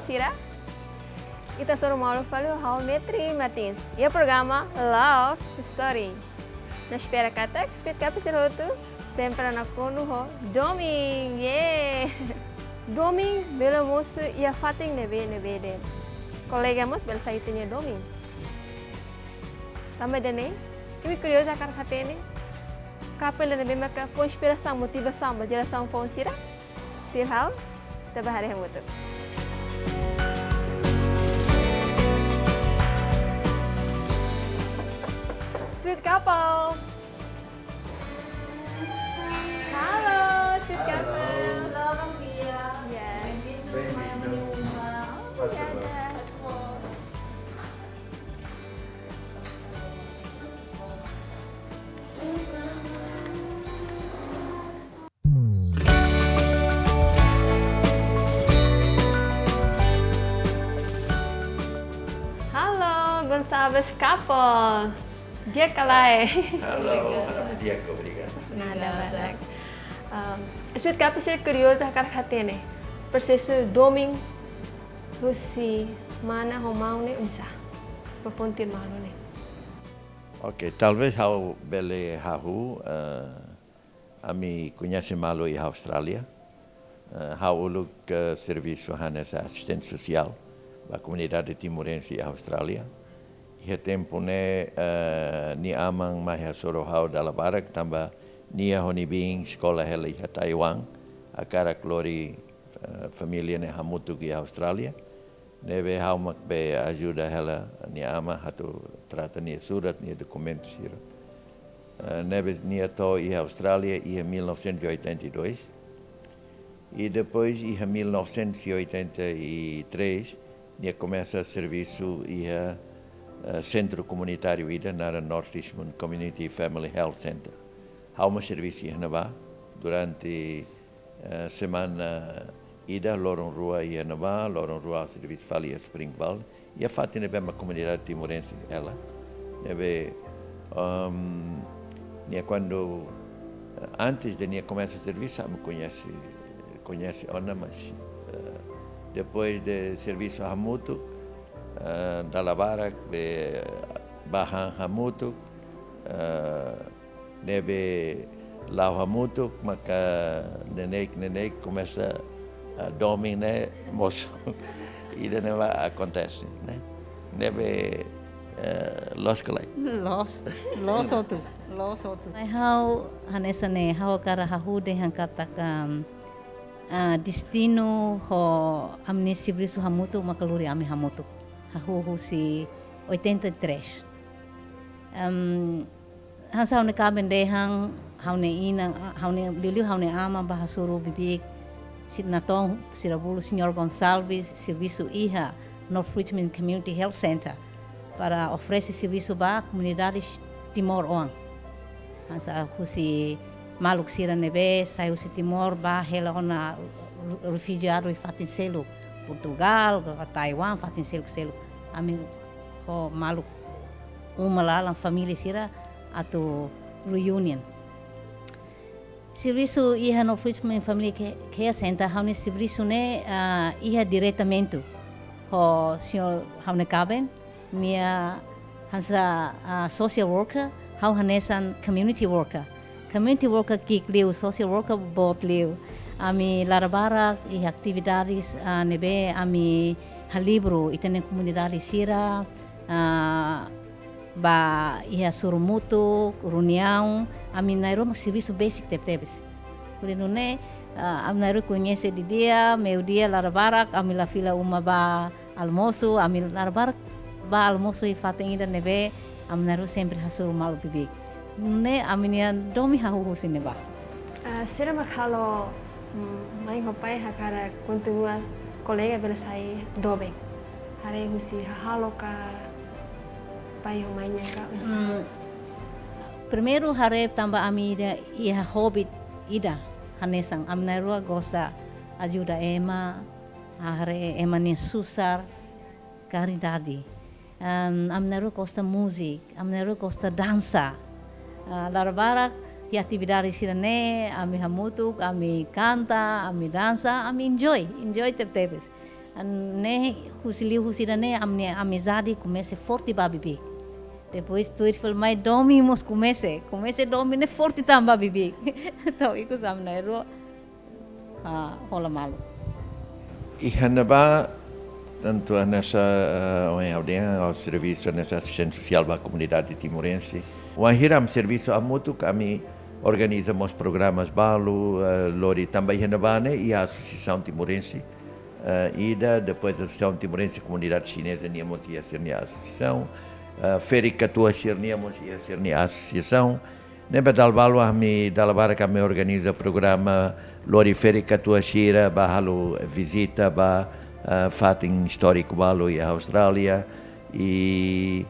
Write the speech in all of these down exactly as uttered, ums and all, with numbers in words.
Sira, ita hasoru malu fali ho ha'u Metri Martins iha programa Love Story. Ha'u espera katak Sweet Couple sira hotu sempre nakonu ho domin. Yeay! Domin bele mosu iha fatin ne'ebé-ne'ebé de'it. Kolega mós bele sai ita-nia domin. Tanba ida-ne'e, imi kuriozu hakarak hatene couple ne'ebé maka fó inspirasaun, motivasaun ba jerasaun foun sira? Tuir ha'u, ita bá haree hamutuk. Sweet Couple. Halo, Sweet Couple. Halo, bom dia. Ya. Bem-vindo. Bem-vindo. Obrigada. Faz favor. Halo, Gonçalves Couple. Di'ak ka lae? Halo, obrigada. Di'ak, obrigada. Nada, obrigada. Um, Sweet Couple sira kuriozu hakarak hatene prosesu domin husi mana ho maun ne'e oinsá? Ba fó tuir malu ne'e. Ok, talvez ha'u bele hahú, eh, ami koñese malu iha Austrália. Eh, ha'u uluk, eh, servisu hanesan asistente sosiál ba komunidade timorense iha Austrália. Iha tempu ne'e, eh, nia aman mai hasoru ha'u dala barak tanba nia ho nia biin eskola hela iha Taiwan, hakarak lori, eh, família ne'e hamutuk iha Austrália. Ne'ebé ha'u mak bá ajuda hela nia aman atu trata nia surat, nia dokumentu sira. Eh, ne'ebé nia to'o iha Austrália iha mil novecentos e oitenta e dois. I depois iha mil novecentos e oitenta e três, nia komesa servisu iha, eh, sentru komunitáriu ida naran North Richmond Community Family Health Center. Ha'u mós servisu iha ne'ebá durante eh, semana ida, loron rua iha ne'ebá, loron rua servisu fali iha Springvale. Iha fatin ne'ebé mak komunidade timorense hela. Ne'ebé, ehm, nia kuandu, eh, antes de nia komesa servisu, ami koñese, koñese ona, mas, eh, depois de servisu hamutuk, eh, dala barak, bá han hamutuk, eh, ne'ebé la'o hamutuk, maka neineik-neineik komesa, ah, domin ne'e mosu. Ida-ne'e mak akontese, ne'e. Ne'ebé, eh, loos ka lae? Loos, loos hotu, loos hotu. Mai ha'u hanesan ne'e, ha'u hakarak hahú dehan katak, ah, destinu ho ami-nia servisu hamutuk maka lori ami hamutuk. Hahú husi oitenta e três. Em, hanesan ha'u-nia kaben dehan, ha'u-nia inan, ha'u-nia, liuliu ha'u-nia aman bá hasoru bibi-, si-, natoon sira bolu Señór Gonçalves servisu iha North Richmond Community Health Center para oferese servisu ba komunidade timoroan. Hanesan husi maluk sira ne'ebé sai husi Timor bá hela ona refujiadu iha fatin seluk, Portugal, ka Taiwan, fatin seluk-seluk. Ami ho maluk uma laran, família sira atu reunion. Servisu iha North Richmond Family Ca-, Care Center, ha'u-nia servisu ne'e, ah, iha diretamente ho señór ha'u-nia kaben, nia hanesan, ah, social worker, ha'u hanesan community worker. Community worker ki'ik liu, social worker boot liu. Ami laran barak iha atividades, ah, ne'ebé ami halibur ita-nia komunidade sira, ah, bá iha sorumutu, reuniaun, ami na'in-rua mak servisu basic tebetebes. Hodi nune'e, ah, ami na'in-rua koñese didi'ak, meiudia, laran barak, ami la fila uma bá almosu, ami laran barak bá almosu iha fatin ida ne'ebé ami na'in-rua sempre hasoru malu bibi-. Ne'e ami-nia domin hahú husi ne'ebá. Ah, saida mak halo, mm, mãe ho pai hakarak kontinua kolega bele sai doben? Haree husi hahalok ka, pai ho mãe nian ka, oinsá? Mm, primeiru haree tanba ami ida iha hobi ida hanesan, ami na'in-rua gosta ajuda ema, haree ema nia susar, karidade. Em, ami na'in-rua gosta múzika, ami na'in-rua gosta dansa. Ah, laran barak iha atividade sira-ne'e, ami hamutuk, ami kanta, ami dansa, ami enjoy, enjoy tebetebes. Ne'e husi liuhusi ida-ne'e ami-nia amizade komesa forte ba beibeik. Depois tuir fali mai domin mós komesa, komesa domin ne'e forte tan ba beibeik. Entaun ikus ami na'in-rua, ah, hola malu. Iha ne'ebá, tantu hanesan, eh, ohin ha'u dehan, ha'u servisu hanesan asistente sosiál ba komunidade timorense. Wainhira ami servisu hamutuk, ami organiza mós programas balu, eh, lori tanba iha ne'ebá ne'e iha asosiasaun timorense. Eh, ida, depois asosiasaun timorense komunidade xineza nian mós iha sira-nia asosiasaun. Eh, ferik-katuas sira-nian mós iha sira-nia asosiasaun. Ne'ebé dala balu ami, dala barak ami organiza programa lori ferik-katuas sira ba halo vizita ba, eh, fatin istóriku balu iha Austrália. I,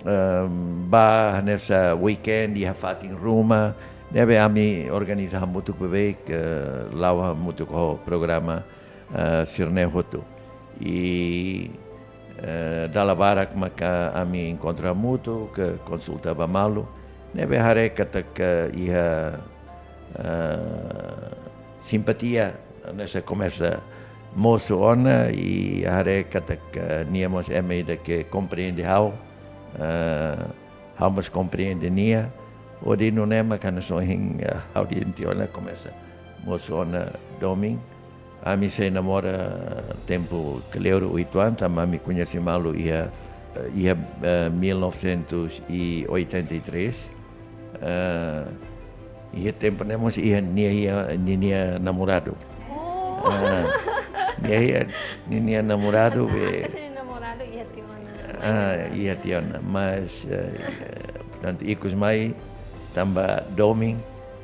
ehm, ba hanesan weekend iha fatin ruma. Ne'ebé ami organiza hamutuk beibeik, eh, la'o hamutuk ho programa, eh, sira-ne'e hotu. I, eh, dala barak maka ami enkontra hamutuk, konsulta ba malu. Ne'ebé haree katak iha, eh, simpatia, hanesan komesa mosu ona i haree katak nia mós ema ida ke komprende ha'u, eh, ha'u mós komprende nia. Hodi nune'e mak hanesan ohin, eh, ha'u dehan tiha ona komesa mosu ona domin. Ami sei namora tempu kleur oituan, tanba ami koñese malu iha, iha, eh, mil novecentos e oitenta e três. Eh, iha tempu ne'e mós iha nia, iha ninia namoradu. Oh. Ah, nia iha ninia namoradu be. Antes de namorado iha tiha ona. Ah, iha tiha ona. Mas, eh, portantu, ikus mai tanba domin,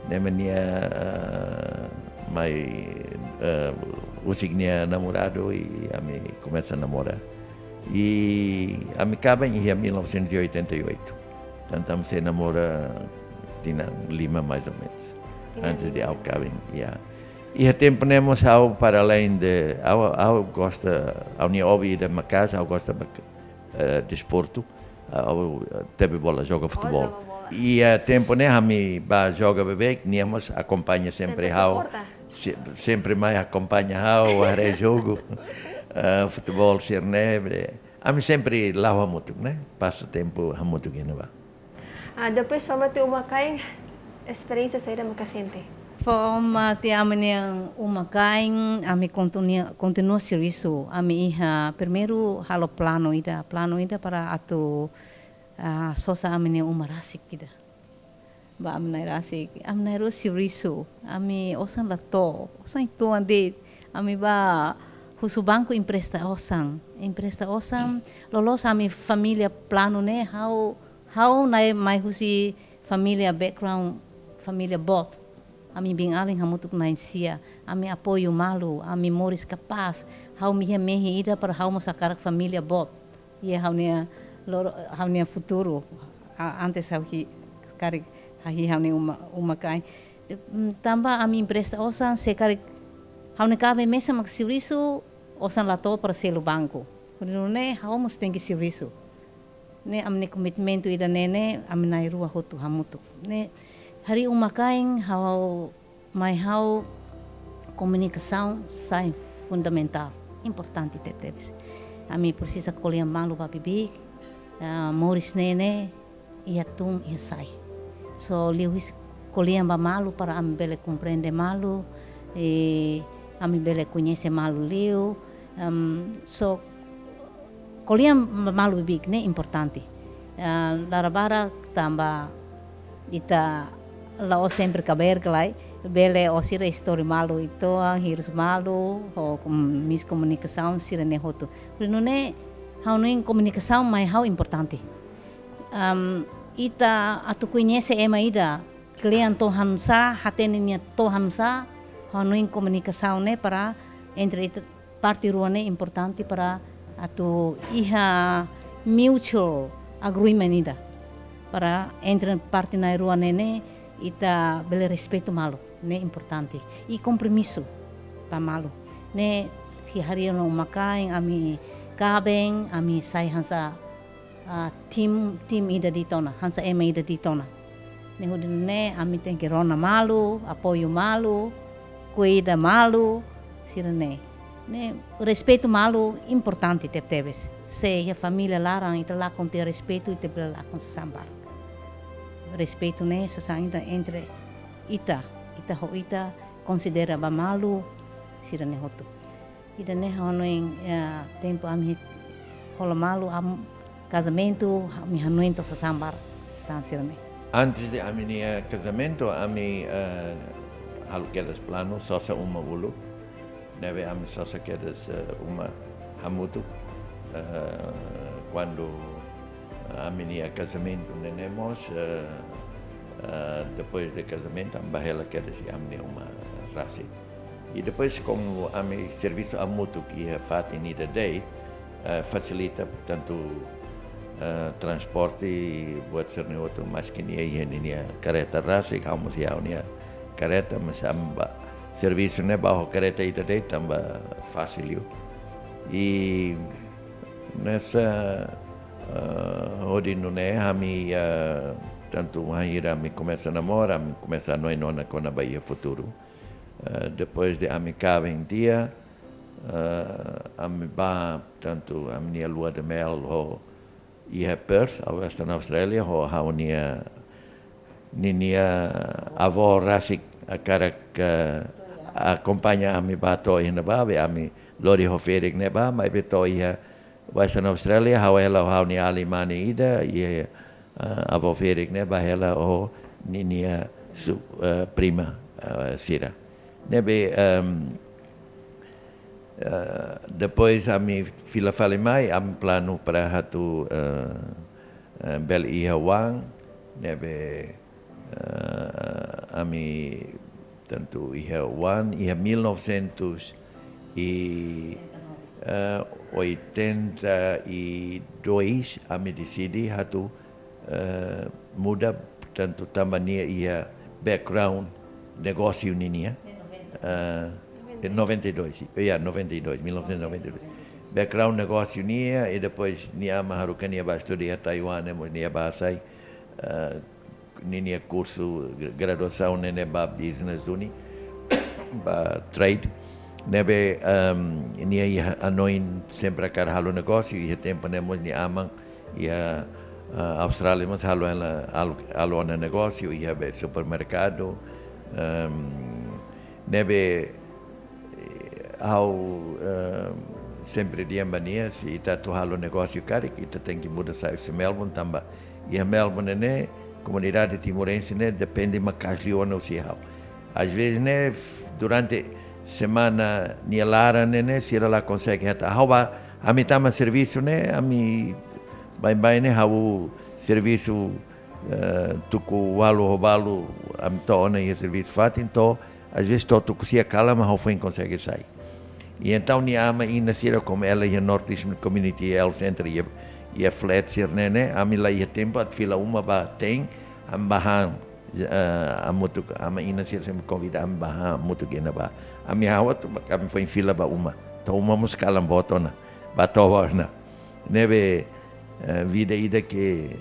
ne'e mak nia, eh, mai, eh, husik nia namoradu i ami komesa namora. I ami kaben iha mil novecentos e oitenta e oito. Portantu, ami sei namora tinan lima mais ou menos. Tinan lima. Antes de ha'u kaben, ya. Iha tempu ne'e mós ha'u para além de, ha'u, ha'u gosta, ha'u-nia hobi ida maka'as, ha'u gosta mak-, eh, desportu. Ah, ha'u, eh, tebe bola, joga futeból. Oh, joga bola. Iha tempu ne'e ami ba joga beibeik, nia mós akompaña sempre ha'u. Sempre suporta. Se-, sempre mai akompaña ha'u, haree jogu, eh, futeból sira-ne'e, be. Ami sempre la'o hamutuk, ne'e? Pasa tempu hamutuk iha ne'ebá. Ah, depois fó mate uma-kain, esperiénsia saida maka sente? Fó mate ami-nia uma-kain, ami kontinua, kontinua servisu. Ami iha primeiru halo planu ida, planu ida para atu, ah, sosa ami-nia uma rasik ida. Ba ami na'in rasik, ami na'in-rua servisu, ami osan la to'o, osan uitoan de'it, ami ba husu banku empresta osan, empresta osan, loloos ami família planu ne'e, ha'u, ha'u-nia mai husi família background, família boot. Ami biin-alin hamutuk na'in-sia, ami apoiu malu, ami moris kapás, ha'u iha mehi ida para ha'u mós hakarak família boot. Iha ha'u-nia loro, ha'u-nia futuru. A-, antes ha'u hi-, karik hahí ha'u-nia uma, uma-kain. Mm, tanba ami empresta osan, se karik ha'u-nia kaben mesak mak servisu, osan la to'o para selu banku. Hodi nune'e ha'u mós tenke servisu. Ne'e ami-nia komitmentu ida-ne'e ne'e, ami na'in-rua hotu hamutuk. Ne'e, harii uma-kain ha'u mai ha'u komunikasaun sai fundamentál, importante tebetebes. Ami presiza ko'alia malu ba beibeik, ah, moris ne'e ne'e, iha tun, iha sai. So, liuhusi ko'alia ba malu para ami bele komprende malu, i ami bele koñese malu liu, em, so, ko'alia ba malu beibeik ne'e importante. Ah, dala barak tanba ita la'ós sempre kabeer ka lae, bele ó sira istori malu uitoan, hirus malu, ho kom-, miskomunikasaun sira-ne'e hotu. Hodi nune'e ha'u hanoin komunikasaun mai ha'u importante. Am, ita atu koñese ema ida, kle'an to'o hanesan, hatene nia to'o hanesan, ha'u hanoin komunikasaun ne'e para entre ita parte rua ne'e importante para atu iha mutual agreement ida. Para entre parte na'in-rua ne'e ne'e ita bele respeitu malu, ne'e importante. I kompromisu ba malu. Ne'e harii ona uma-kain, ami kaben, ami sai hanesan ah, tim, tim ida de'it ona, hanesan ema ida de'it ona. Ne'e hodi nune'e ami tenke rona malu, apoiu malu, kuida malu, sira-ne'e. Ne'e, respeitu malu importante tebetebes. Se iha família laran ita lakon tiha respeitu, ita bele lakon sasán barak. Respeitu ne'e sasán ita entre ita, ita ho ita konsidera ba malu sira-ne'e hotu. Ida-ne'e ha'u hanoin, eh, tempu ami hola malu, ami kazamentu, ami hanoin to'o sasán barak, sasán sira-ne'e. Antes de ami-nia kazamentu, ami, eh, halo kedas planu, sosa uma uluk. Ne'ebé ami sosa kedas, eh, uma hamutuk. Eh, kuandu ami-nia kazamentu ne'e ne'e mós, eh, eh, depois de kazamentu, ami bá hela kedas iha ami-nia uma rasik. I depois, komu ami servisu hamutuk iha fatin ida de'it, eh, fasilita, portantu, eh, transporte buat sira-ne'e hotu, maski nia iha ninia karreta rasik, ha'u mós iha ha'u-nia karreta, mas ami bá servisu ne'e bá ho karreta ida de'it tanba fasil liu. I hanesan, eh, hodi nune'e ami, eh, tantu wainhira ami komesa namora, ami komesa hanoin ona kona-ba iha futuru. Eh, depois de ami kaben tiha, eh, ami bá, tantu ami-nia lua de mel ho iha Perth, Western Australia, ho ha'u-nia, ninia avó rasik hakarak, eh, akompaña ami bá to'o iha ne'ebá, be ami lori ho ferik ne'ebá, maibé to'o iha Western Australia, ha'u hela ho ha'u-nia alin mane ida, iha, eh, avó ferik ne'e bá hela ho ninia su-, eh, prima, eh, sira. Ne'ebé, ehm, eh, depois ami fila fali mai, ami planu para atu, eh, eh, bele iha oan, ne'ebé, eh, ami tantu iha oan, iha mil novecentos e, eh, oitenta e dois, ami deside atu, eh, muda, tantu tanba nia iha background negósiu ninia. Eh, em noventa e dois, ya, noventa e dois, mil novecentos e noventa e dois. Background negósiu ninia, i depois nia aman haruka nia bá estuda iha Taiwan, ne'e mós nia bá hasai, eh, ninia kursu gra-, graduasaun ne'e ne'e ba business duni, ba trade. Ne'ebé, ehm, nia iha hanoin sempre hakarak halo negósiu, iha tempu ne'e mós nia aman iha, eh, Austrália mós halo ona, halo, halo ona negósiu, iha be supermerkadu, ehm, ne'ebé, eh, ha'u, eh, sempre dehan ba nia, se ita atu halo negósiu karik, ita tenke muda sai husi Melbourne, tanba iha Melbourne ne'e, komunidade timorense ne'e depende maka'as liu ona husi ha'u. Às vezes ne'e, f-, durante semana nia laran ne'e ne'e, sira la konsege hetan. Ha'u bá, ami tama servisu ne'e, ami baibain ne'e ha'u servisu, eh, tuku ualu ho balu, ami to'o ona iha servisu fatin to'o, às vezes to'o tuku sia kalan mak ha'u foin konsege sai. I entaun nia aman inan sira, komu ela iha North Richmond Community Health Centre, iha, iha flat sira-ne'e ne'e, ami la iha tempu atu fila uma ba te'in, ami bá han, eh, hamutuk, aman inan sira sempre konvida ami bá han hamutuk iha ne'ebá. Ami ha'u atu, ami foin fila ba uma. To'o uma mós kalan boot ona, bá toba ona. Ne'ebé, eh, vida ida ke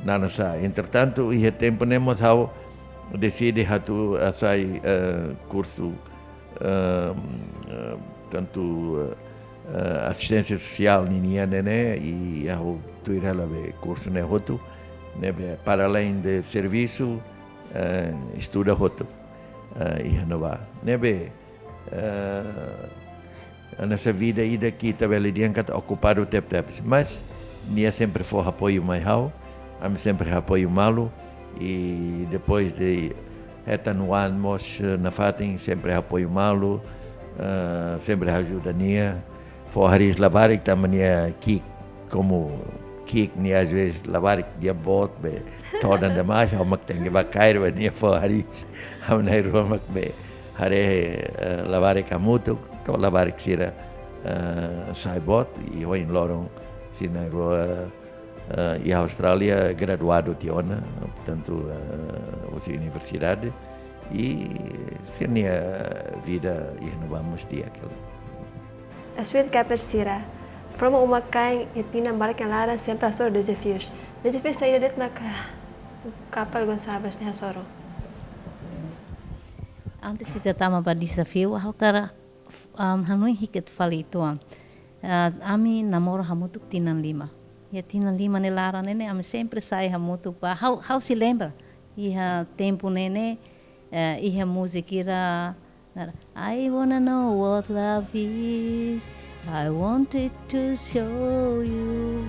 naran sá. Entretantu, iha tempu ne'e mós ha'u deside atu hasai, eh, kursu, eh, eh, tantu, eh, asisténsia sosiál ninia ne'e ne'e, i ha'u tuir hela be kursu ne'e hotu, ne'ebé para além de servisu, eh, estuda hotu, eh, iha ne'ebá. Ne'ebé, eh, hanesan vida ida ke ita bele dehan katak okupadu tebetebes. Mas nia sempre fó apoiu mai ha'u, ami sempre apoiu malu, i depois de hetan oan mós, eh, nafatin sempre apoiu malu, eh, sempre ajuda nia, fó hariis labarik tanba nia ki'ik, komu ki'ik nia às vezes labarik nia boot be todan demais, ha'u mak tenke bá kaer ba nia fó hariis. Ha'u na'in-rua mak be haree, eh, labarik hamutuk, to'o labarik sira, eh, sai boot, i ohin loron sira na'in-rua, eh, iha Austrália graduadu tiha ona, portantu, eh, husi universidade, i sira-nia vida iha ne'ebá mós di'ak hela. As Wheel Keepers sira, forma uma-kain iha tinan barak nia laran sempre hasoru dezafius. Dezafiu saida de'it maka kapál Gonçalves ne'e hasoru? Antes ita tama ba dezafiu, ha'u hakarak Am, hanoin hikat fali uitoan. Ah, ami namora hamutuk tinan lima. Iha tinan lima ne'e laran ne'e ne'e ami sempre sai hamutuk ba. Ha'u, ha'u sei lembra. Iha tempu ne'e ne'e, eh, iha múzika ida naran, "I wanna know what love is. I wanted to show you."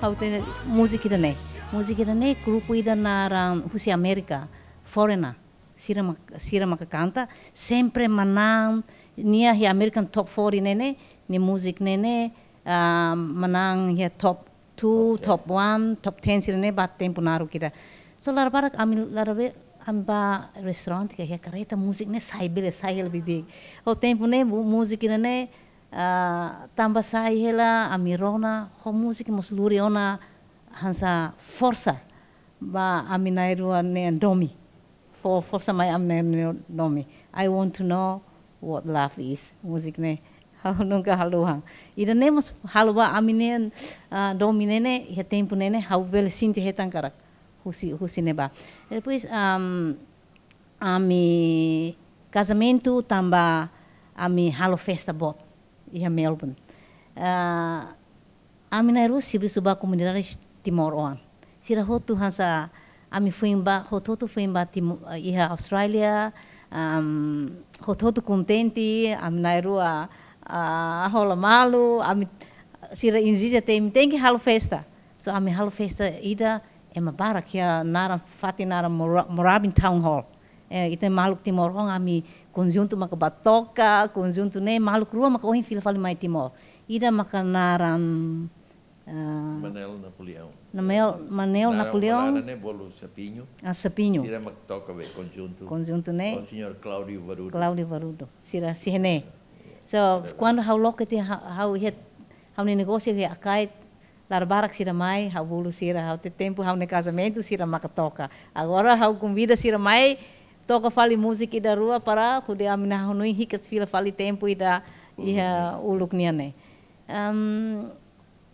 Ha'u hatene múzika ida ne'e. Múzika ida ne'e grupu ida naran husi Amérika, Foreigner. Sira mak-, sira maka kanta, sempre manán, nia iha American Top forty ne'e ne'e, nia múzika ne'e ne'e, ah, manán iha top two, top one, top ten sira ne'e ba tempu naruk ida. So, la'ós barak ami, la'ós be, ami ba restaurante ka iha karreta, múzika ne'e sai bele, sai hela bibi. Ho tempu ne'e, mu-, múzika ne'e ne'e, ah, tanba sai hela, ami rona, ho múzika mós lori ona hanesan forsa ba ami na'in-rua nia domin. Fó forsa mai ami-nia domin. "I want to know what love is." Múzika ne'e ha'u nunka haluha. Ida ne'e mós halo ba ami-nia, ah, domin ne'e ne'e, iha tempu ne'e ne'e, ha'u bele sente hetan karik husi, husi ne'ebá. Depois, am, ami kazamentu tanba ami halo festa boot iha Melbourne. Ah, ami na'in-rua servisu ba komunidade timoroan. Sira hotu hanesan ami foin ba, hotu-hotu foin ba Timo-, iha Austrália, am, hotu-hotu kontente, ami na'in-rua, ah, hola malu, ami sira ezije ita tenke halo festa. So ami halo festa ida ema barak iha naran fatin naran Mora-, Moorabbin Town Hall. Eh, ita maluk timoroan ami konjuntu maka ba toka, konjuntu ne'e maluk rua maka ohin fila fali mai Timor. Ida maka naran, ah, Manel Napoleão. Namel-, Manel Napoleão. Naran ne'e bolu Sapinho. Ah, Sapinho. Sira mak toka be konjuntu. Konjuntu ne'e. O señór Cláudio Varudo. Cláudio Varudo. Sira sira ne'e. So, kuandu ha'u loke tiha ha-, ha'u iha, ha'u-nia negósiu iha Akait, la'ós barak sira mai, ha'u bolu sira, ha'u hatene tempu ha'u-nia kazamentu sira maka toka. Agora ha'u konvida sira mai, toka fali múzika ida rua para hodi ami-nia hanoin hikat fila fali tempu ida iha uluk nian ne'e. Am,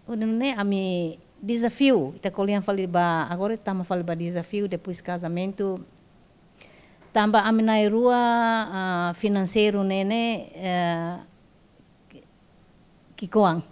hodi nune'e ami dezafiu, ita ko'alia fali ba, agora tama fali ba dezafiu, depois kazamentu, tanba ami na'in-rua, ah, finanseiru ne'e ne'e, eh, ki'ikoan.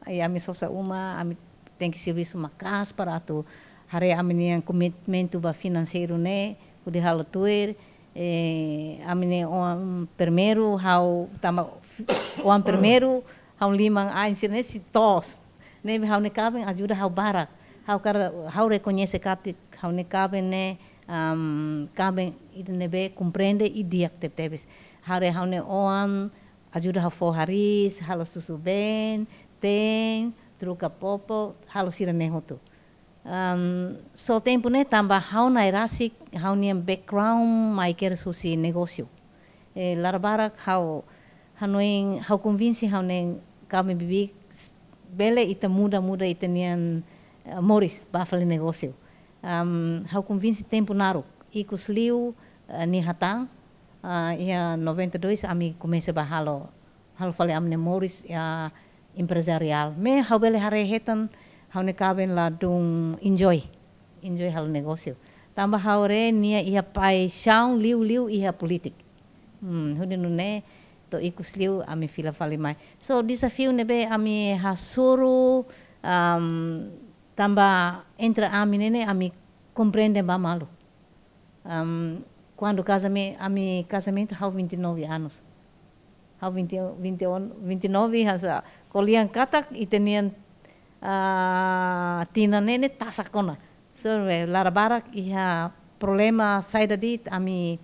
Ai ami sosa uma, ami tenke servisu maka'as para atu haree ami-nia komitmentu ba finanseiru ne'e, hodi halo tuir, eh, ami-nia oan primeiru, ha'u tanba f-, oan primeiru, ha'u liman ain sira ne'e sei toos. Ne'ebé ha'u-nia kaben ajuda ha'u barak. Ha'u hakarak, ha'u rekoñese katak ha'u-nia kaben ne'e, am, kaben ida ne'ebé komprende i di'ak tebetebes. Haree ha'u-nia oan ajuda ha'u fó hariis, halo susubeen, teen, troka popok, halo sira-ne'e hotu. Am, so tempu ne'e tanba ha'u na'in rasik, ha'u-nia background mai kedas husi negósiu. Eh, la'ós barak ha'u hanoin, ha'u konvinse ha'u-nia kaben bibi s-, bele ita muda, muda ita-nian, eh, moris ba fali negósiu. Am, ha'u konvinse tempu naruk, ikus liu, eh, nia hatán, ah, iha noventa e dois ami komesa ba halo, halo fali ami-nia moris iha empresariál. Maibé ha'u bele haree hetan ha'u-nia kaben ladún enjoy. Enjoy halo negósiu. Tanba ha'u haree nia iha paixaun liu-liu iha polítika. Hmm, hodi nune'e to'o ikus liu ami fila fali mai. So, dezafiu ne'ebé ami hasoru, am, tanba entre ami ne'e ne'e ami komprende ba malu. Am, kuandu kazame-, ami kazamentu ha'u vinte e nove anos. Ha'u vinte, vinte, vinte e nove hanesan ko'alia katak ita-nian, ah, tinan ne'e ne'e tasak ona. So, eh, la'ós barak iha problema saida de'it ami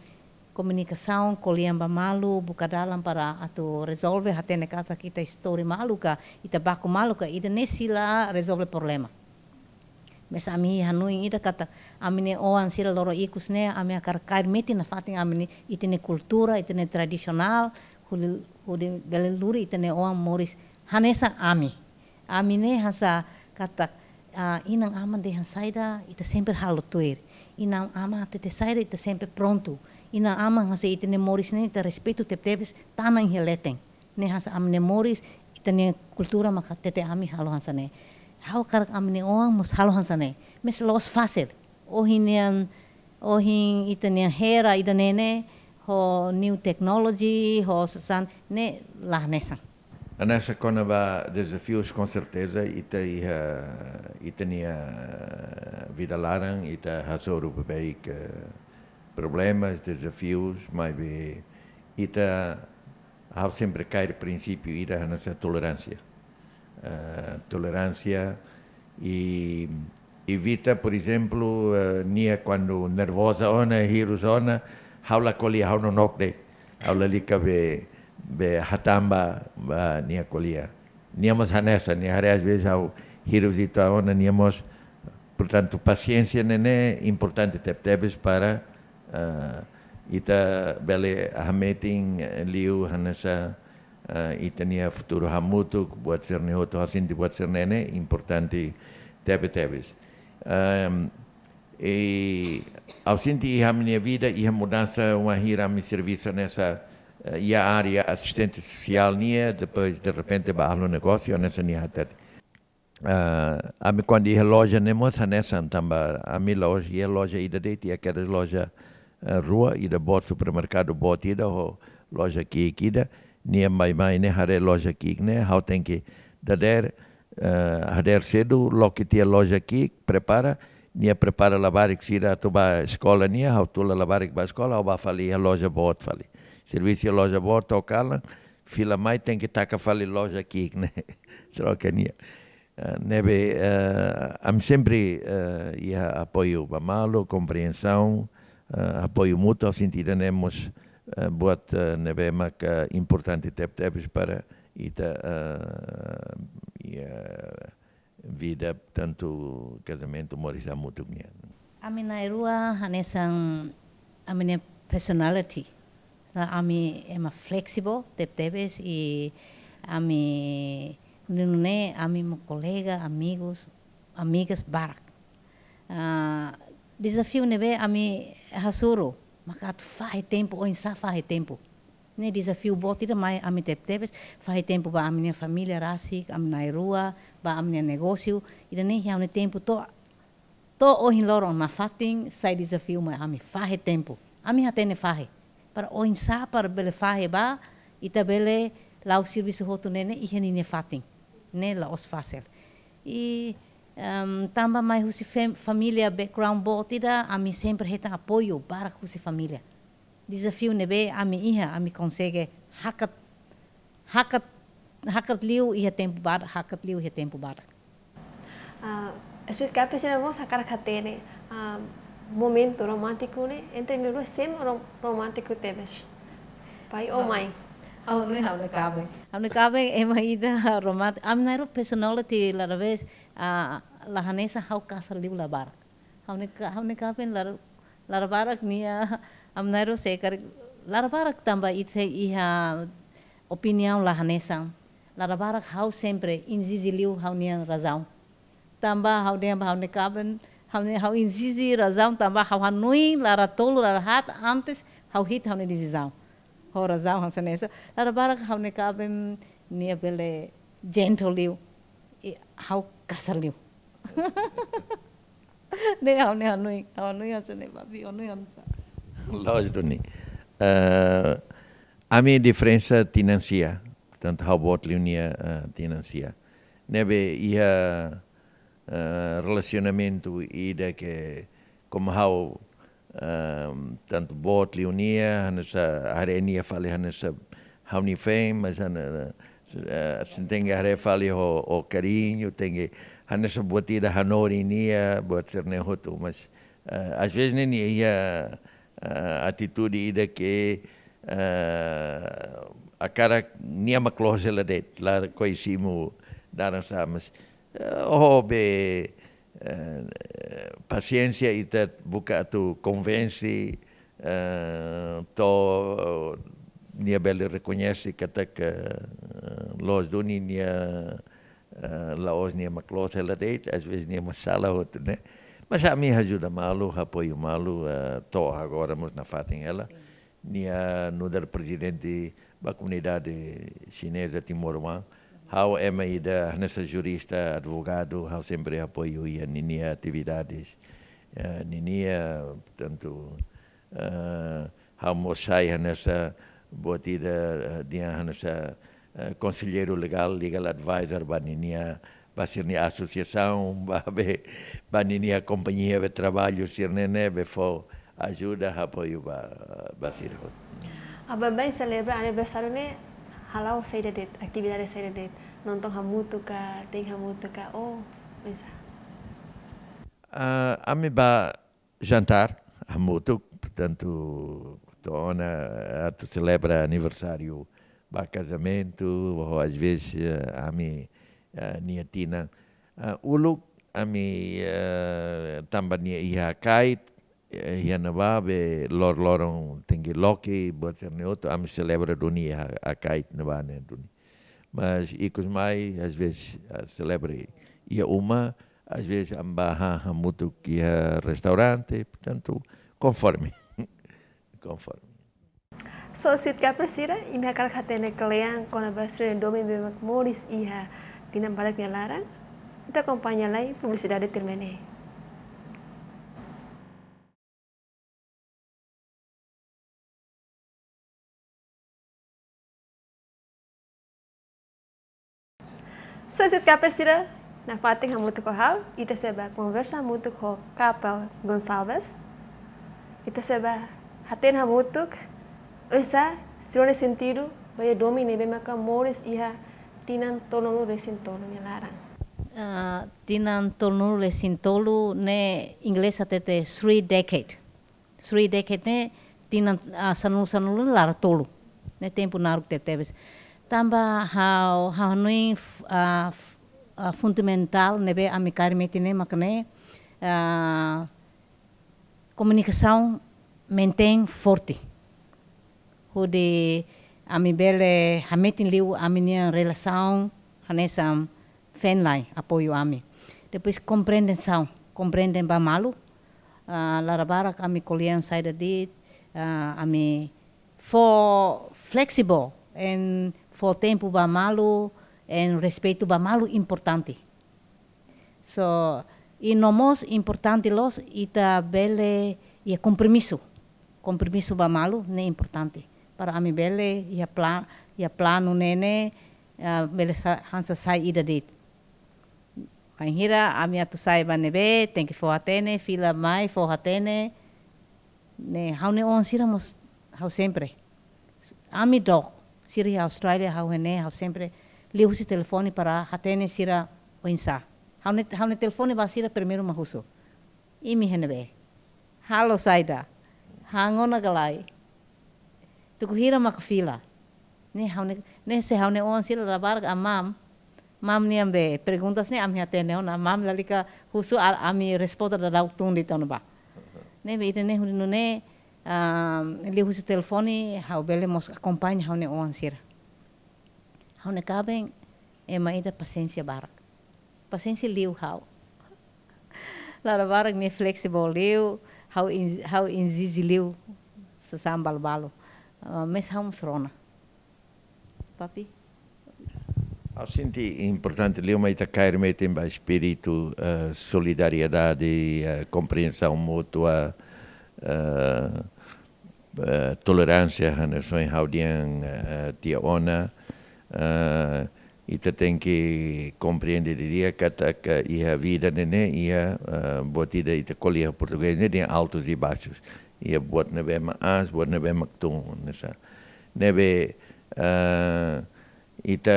komunikasaun, ko'alia ba malu, buka dalan para atu rezolve, hatene katak ita istori malu ka, ita baku malu ka, ida-ne'e sei la rezolve problema. Maibé ami hanoin ida katak, ami-nia oan sira loron ikus ne'e, ami hakarak kaer metin nafatin ami-nia, ita-nia kultura, ita-nia tradisionál, hodi, hodi bele lori ita-nia oan moris hanesan ami. Ami ne'e hanesan katak, ah, inan-aman dehan saida, ita sempre halo tuir. Inan-aman hatete saida, ita sempre prontu. Inan-aman hanesan ita-nia moris ne'e, ita respeitu tebetebes, tanan iha leten. Ne'e hanesan ami-nia moris, ita-nia kultura maka hatete ami halo hanesan ne'e. Ha'u hakarak ami-nia oan mós halo hanesan ne'e. Maibé la'ós fasil. Ohin nian, ohin ita-nia era ida-ne'e ne'e, Ho new technology, ho sasán ne'e la hanesan. Hanesan kona-ba dezafius, com certeza, ita iha, ita-nia vida laran, ita hasoru beibeik, eh, problemas, dezafius, maibé ita, ha'u sempre kaer prinsípiu ida hanesan toleránsia. Eh, toleránsia i evita, por ezemplu, eh, nia kuandu nervoza ona, hirus ona, ha'u la ko'alia, ha'u nonook de'it. Ha'u lalika be, be hatán ba, ba nia ko'alia. Nia mós hanesan, nia haree às vezes ha'u hirus ita ona, nia mós, portantu, pasiénsia ne'e ne'e importante tebetebes para, eh, ita bele hametin, eh, liu hanesan, eh, ita-nia futuru hamutuk, buat sira-ne'e hotu, ha'u sente buat sira-ne'e ne'e importante tebetebes. Ehm, i ha'u sente iha ami-nia vida, iha mudansa wainhira ami servisu hanesan, eh, iha área asistente sosiál nian, depois de repente ba agronegósiu, hanesan nia hatete. Ah, ami kuandu iha loja ne'e mós hanesan tanba ami la'ós iha loja ida de'it, iha kedas loja, eh, rua, ida boot, supermerkadu boot ida, ho loja ki'ik ida, nia mai-mai ne'e haree loja ki'ik ne'e, ha'u tenke dadeer, eh, dadeer sedu, loke tiha loja ki'ik, prepara, nia prepara labarik sira atu ba eskola nia, ha'u tula labarik ba eskola, ha'u bá fali iha loja boot fali. Servisu iha loja boot to'o kalan, fila mai tenke taka fali loja ki'ik ne'e, troka nia. Eh, ne'ebé, eh, ami sempre, eh, iha apoiu ba malu, kompreensaun, eh, apoiu mútuu, sentidu ne'e mós, eh, buat, eh, ne'ebé maka importante tebetebes para ita, eh, iha vida tantu kazamentu, moris hamutuk nian. Ami na'in-rua hanesan ami-nia personality. La, ami ema flexible tebetebes i ami nune'e ami mak kolega, amigos, amigas barak. Ah, dezafiu ne'ebé ami hasoru, maka atu fahe tempu, oinsá fahe tempu. Ne'e dezafiu boot ida mai ami tebetebes, fahe tempu ba ami-nia família rasik, ami na'in-rua, ba ami-nia negósiu, ida-ne'e iha ami-nia tempu to'o, to'o ohin loron nafatin, sai dezafiu mai ami fahe tempu. Ami hatene fahe. Para oinsá para bele fahe ba, ita bele la'o servisu hotu ne'e ne'e iha ninia fatin. Ne'e la'ós fasil. I, em, tanba mai husi fam-, família background boot ida, ami sempre hetan apoiu barak husi família. Dezafiu ne'ebé ami iha, ami konsege hakat, hakat, hakat liu iha tempu badak, hakat liu iha tempu badak. Ah, Sweet Cup sira mós hakarak hatene, ah, momentu romántiku ne'e, entre na'in-rua sé mak rom-, romántiku tebes? Pai ou mãe? Ha'u ne'e, ha'u-nia kaben. Ha'u-nia kaben ema ida romántiku. Ami na'in-rua personality la dala vez, ah, la hanesan, ha'u kasar liu la barak. Ha'u-nia ka-, ha'u-nia kaben la, la barak nia, ami na'in-rua sei karik, la barak tanba ita iha opiniaun la hanesan. La barak ha'u sempre ezije liu ha'u-nia razaun. Tanba ha'u dehan ba ha'u-nia kaben, ha'u-nia, ha'u ezije razaun tanba ha'u hanoin la tolu la haat antes ha'u hetan ha'u-nia desizaun. Ho razaun hanesan ne'e. La barak ha'u-nia kaben nia bele gentle liu. I ha'u kasar liu. Ne'e ha'u-nia hanoin, ha'u hanoin hanesan ne'e, Babi, ha'u hanoin hanesan. Lójiku duni. Eh, ami diferensa tinan sia, portantu ha'u boot liu nia, eh, tinan sia. Ne'ebé iha, eh, relasionamentu ida ke komu ha'u, ehm, tantu boot liu nia, hanesan haree nia fali hanesan ha'u-nia feen, mas hane-, eh, sei tenke haree fali ho, ho kariñu, tenke hanesan buat ida hanorin nia, buat sira-ne'e hotu, mas, eh, às vezes ne'e nia iha, eh, atitude ida ke, eh, hakarak nia mak loos hela de'it, la ko'alia simu daran sá, mas, eh, ho be, eh, pasiénsia ita buka atu konvense, eh, to'o nia bele rekoñese katak, eh, loos duni nia, eh, la'ós nia mak loos hela de'it, às vezes nia mak sala hotu, ne'e. Mas ami ajuda malu, apoiu malu, eh, to'o agora mós nafatin hela. Nia nu'udar prezidente ba komunidade xineza Timor-Leste. Ha'u ema ida hanesan jurista, advogadu, ha'u sempre apoiu iha ninia atividades. Eh, ninia, portantu, eh, Ha'u mós sai hanesan buat ida, eh, dehan hanesan, eh, konselleiru legál, legal advisor ba ninia, ba sira-nia asosiasaun, ba be, ba ninia kompañia be traballu sira-ne'e ne'ebé fó ajuda, apoiu ba, ba sira hotu. Ha'u baibain selebra aniversáriu ne'e hala'o saida de'it, atividade saida de'it, nonton hamutuk ka, tein hamutuk ka, oh, oinsá? Ah, ami bá jantár hamutuk, portantu, to'o ona atu selebra aniversáriu ba kazamentu, ou às vezes, eh, ami, eh, nia tinan. Ah, uluk ami, eh, tanba nia iha kait, eh, iha ne'ebá be lor-loron tenke loke, buat sira-ne'e hotu, ami selebra duni iha kait ne'ebá ne'e duni. Mas ikus mai, às vezes, ah, selebra iha uma, às vezes, ami bá han hamutuk iha restaurante, portantu, konforme. Konforme. So, sweet kapers sira, imi hakarak hatene kle'an kona-ba sira-nia domin ne'ebé mak moris iha tinan badak nia laran? Ita akompaña lai publisidade tuirmai ne'e. So, sweet kapers sira, nafatin hamutuk ho ha'u, ita sei bá konversa hamutuk ho Kapel Gonçalves. Ita sei bá hatene hamutuk, oinsá sira-nia sentidu, ba iha domin ne'ebé maka moris iha tinan tolunulu-resin-tolu nia laran. Ah, tinan tolunulu-resin-tolu ne'e inglés hatete three decade. Three decade ne'e tinan, ah, sanulu-sanulu laran tolu. Ne'e tempu naruk tebetebes. Tanba ha'u, ha'u hanoin f-, ah, f-, ah, fundamentál ne'ebé ami kaer metin ne'e mak ne'e, ah, komunikasaun mantein forte. Hodi ami bele hametin liu ami-nia relasaun hanesan feen-la'en apoiu ami. Depois kompreensaun, komprende ba malu. Ah, laran barak ami ko'alia saida de'it, ah, ami fó flexible, and fó tempu ba malu, and respeitu ba malu importante. So, i no mós importante loos ita bele iha kompromisu. Kompromisu ba malu ne'e importante. Para ami bele iha pla-, iha planu ne'e ne'e, ah, bele sa-, hanesan sai ida de'it. Bainhira ami atu sai ba ne'ebé, tenke fó hatene, fila mai, fó hatene. Ne'e, ha'u-nia oan sira mós, ha'u sempre. Ami dook, sira iha Austrália, ha'u iha ne'e, ha'u sempre liuhusi telefone para hatene sira oinsá. Ha'u-nia, ha'u-nia telefone ba sira primeiru mak husu: Imi iha ne'ebé? Halo saida? Han ona ka lae? Tuku hira maka fila? Ne'e ha'u-nia, ne'e se ha'u-nia oan sira labarik, ah, mam. Mam nian be perguntas ne'e ami hatene ona. Mam lalika husu a-, ami resposta daudaun tun de'it ona ba. Ne'ebé ida-ne'e hodi nune'e, ah, liuhusi telefone, ha'u bele mós akompaña ha'u-nia oan sira. Ha'u-nia kaben ema ida pasiénsia barak. Pasiénsia liu ha'u. Labarik nia flexible liu, ha'u in-, ha'u ezije liu sasán balu-balu. Ah, mas ha'u mós rona. Papi? Ha'u sente importante liu mak ita kaer metin ba espíritu, eh, solidariedade, eh, kompreensaun mútua, eh, eh, toleránsia, hanesan ohin ha'u dehan, eh, tiha ona, eh, ita tenke komprende didi'ak katak iha vida ne'e ne'e iha, eh, buat ida ita ko'alia portugés ne'e dehan altos e baixos. Iha buat ne'ebé mak aas, buat ne'ebé mak tun, hanesan. Ne'ebé, eh, ita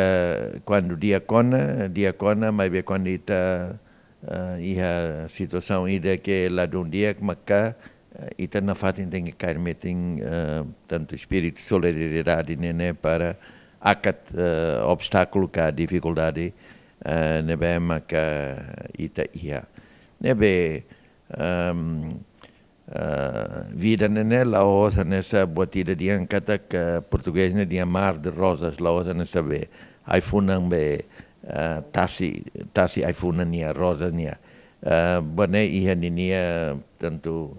kuandu di'ak ona, di'ak ona, maibé kuandu ita, eh, iha situasaun ida ke ladún di'ak, maka, eh, ita nafatin tenke kaer metin, eh, tantu espíritu solidariedade ne'e ne'e para akat, eh, obstákulu ka difikuldade, eh, ne'ebé maka ita iha. Ne'ebé, ehm, eh, vida ne'e ne'e la'ós hanesan buat ida dehan katak, eh, portugés ne'e dehan mar de rosas, la'ós hanesan be ai-funan be, eh, tasi, tasi ai-funan nia, rosas nia. Eh, buat ne'e iha ninia tantu,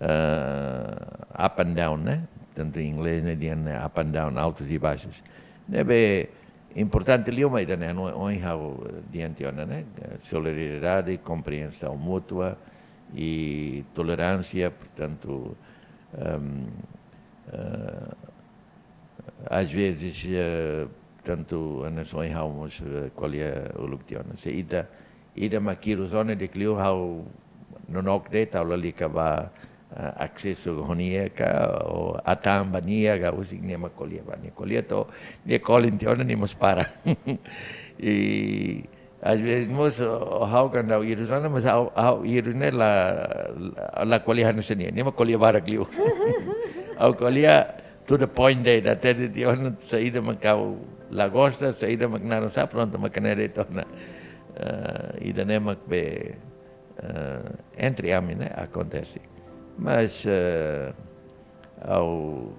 eh, up and down, ne'e? Tantu inglés ne'e dehan, eh, up and down, altos e baixos. Ne'ebé importante liu mak ida-ne'e, no, ohin ha'u dehan tiha ona, ne'e? Solidariedade, kompreensaun mútua, i toleránsia, portantu, ehm, Eh, às vezes, eh, tantu hanesan ohin ha'u mós, eh, ko'alia uluk tiha ona. Se ida, ida mak hirus ona di'ak liu ha'u nonook de'it, ha'u lalika bá, eh, asesu ho nia ka, ou atan ba nia ka, husik nia mak ko'alia ba nia. Ko'alia to'o nia kolin tiha ona nia mós para. I às vezes mós, o, ha'u kuandu ha'u hirus ona, mas ha'u, ha'u hirus ne'e la, la, la ko'alia hanesan nia. Nia mak ko'alia barak liu. Ha'u ko'alia to the point de'it, ida hatete tiha ona saida mak ha'u la gosta, saida mak naran sá, prontu mak ne'e de'it ona. Eh, ida-ne'e mak be, eh, entre ami ne'e akontese. Mas, eh, ha'u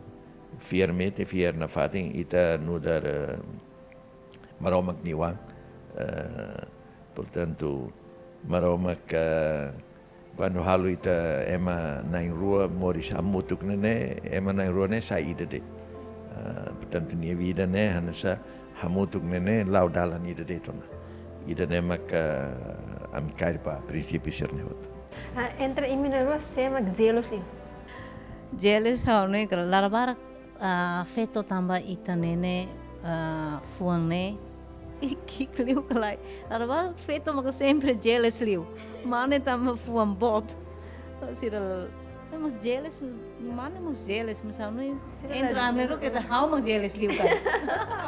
fiar metin, fiar nafatin, ita nu'udar, eh, Maromak nia oan. Eh, portantu, Maromak, eh, kuandu halo ita ema na'in-rua moris hamutuk ne'e ne'e, ema na'in-rua ne'e sai ida de'it. Eh, portantu, nia vida ne'e hanesan hamutuk ne'e ne'e la'o dalan ida de'it ona. Ida-ne'e maka ami kaer ba prinsípiu sira-ne'e hotu. Ah, entre imi na'in-rua sé mak jealous liu? Jealous ha'u ne'e kala dala barak, ah, feto tanba ita ne'e ne'e, ah, fuan ne'e ki'ik liu ka lae. Dala barak feto maka sempre jealous liu. Mane tanba fuan boot. Sira, eh, mós jealous, mós, mane mós jealous, mas ha'u ne'e sira entre la ami rua keta ha'u mak jealous liu ka.